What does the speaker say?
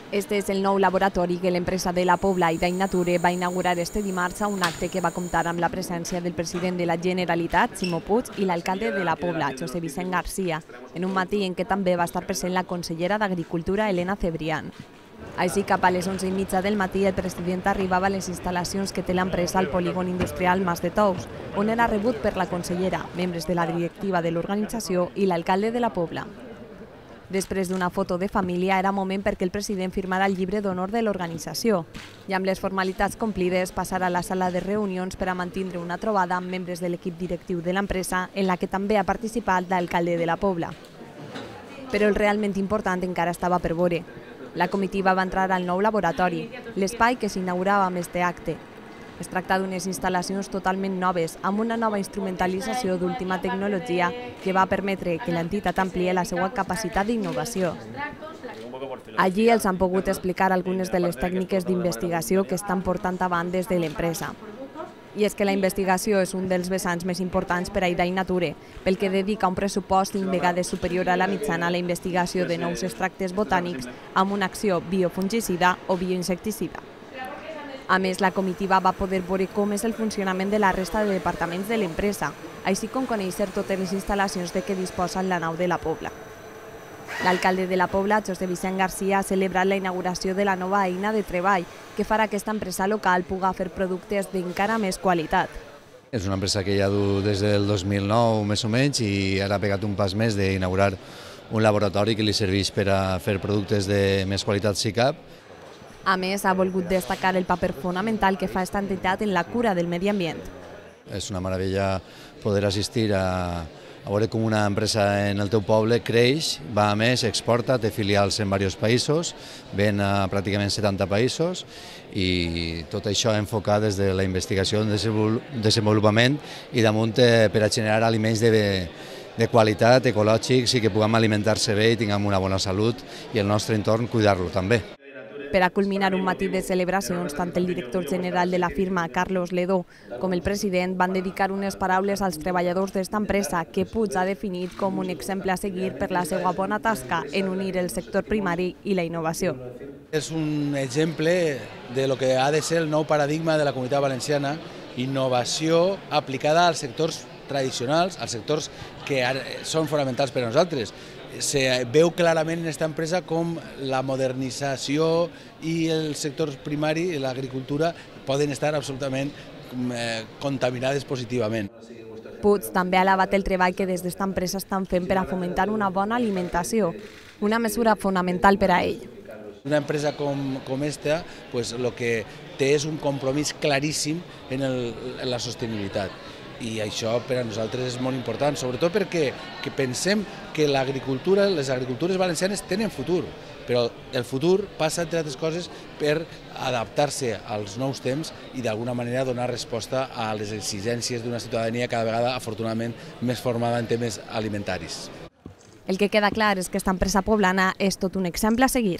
Este és el nou laboratori que l'empresa de la Pobla i d'Ainature va inaugurar este dimarts a un acte que va comptar amb la presència del president de la Generalitat, Ximo Puig, i l'alcalde de la Pobla, José Vicent García, en un matí en què també va estar present la consellera d'Agricultura, Elena Cebrián. Així, cap a les 11:30 del matí, el president arribava a les instal·lacions que té l'empresa al polígon industrial Mas de Tous, on era rebut per la consellera, membres de la directiva de l'organització i l'alcalde de la Pobla. Després d'una foto de família, era moment perquè el president firmara el llibre d'honor de l'organització i amb les formalitats complides passar a la sala de reunions per a mantindre una trobada amb membres de l'equip directiu de l'empresa en la que també ha participat l'alcalde de la Pobla. Però el realment important encara estava per veure. La comitiva va entrar al nou laboratori, l'espai que s'inaugurava amb este acte. Es tracta d'unes instal·lacions totalment noves, amb una nova instrumentalització d'última tecnologia que va permetre que l'entitat ampliï la seva capacitat d'innovació. Allí els han pogut explicar algunes de les tècniques d'investigació que estan portant avant des de l'empresa. I és que la investigació és un dels vessants més importants per a Ainature, pel que dedica un pressupost 5 vegades superior a la mitjana a la investigació de nous extractes botànics amb una acció biofungicida o bioinsecticida. A més, la comitiva va poder veure com és el funcionament de la resta de departaments de l'empresa, així com conèixer totes les instal·lacions de què disposa la nau de la Pobla. L'alcalde de la Pobla, José Vicent García, ha celebrat la inauguració de la nova eina de treball que farà que aquesta empresa local pugui fer productes d'encara més qualitat. És una empresa que ja du des del 2009 més o menys i ara ha pegat un pas més d'inaugurar un laboratori que li serveix per a fer productes de més qualitat SICAP. A més, ha volgut destacar el paper fonamental que fa aquesta entitat en la cura del medi ambient. És una meravella poder assistir a veure com una empresa en el teu poble creix, va a més, exporta, té filials en diversos països, ven a pràcticament 70 països i tot això enfocat des de la investigació, desenvolupament i damunt per a generar aliments de qualitat, ecològics i que puguem alimentar-se bé i tinguem una bona salut i el nostre entorn cuidar-lo també. Per a culminar un matí de celebracions, tant el director general de la firma, Carlos Ledó, com el president van dedicar unes paraules als treballadors d'esta empresa que Puig ha definit com un exemple a seguir per la seva bona tasca en unir el sector primari i la innovació. És un exemple de lo que ha de ser el nou paradigma de la Comunitat Valenciana, innovació aplicada als sectors tradicionals, als sectors que són fonamentals per a nosaltres. Se veu clarament en aquesta empresa com la modernització i el sector primari i l'agricultura poden estar absolutament contaminades positivament. Puig també ha alabat el treball que des d'esta empresa estan fent per a fomentar una bona alimentació, una mesura fonamental per a ell. Una empresa com aquesta el que té és un compromís claríssim en la sostenibilitat. I això per a nosaltres és molt important, sobretot perquè pensem que les agricultures valencianes tenen futur, però el futur passa, entre altres coses, per adaptar-se als nous temps i d'alguna manera donar resposta a les exigències d'una ciutadania cada vegada, afortunadament, més formada en temes alimentaris. El que queda clar és que aquesta empresa poblana és tot un exemple a seguir.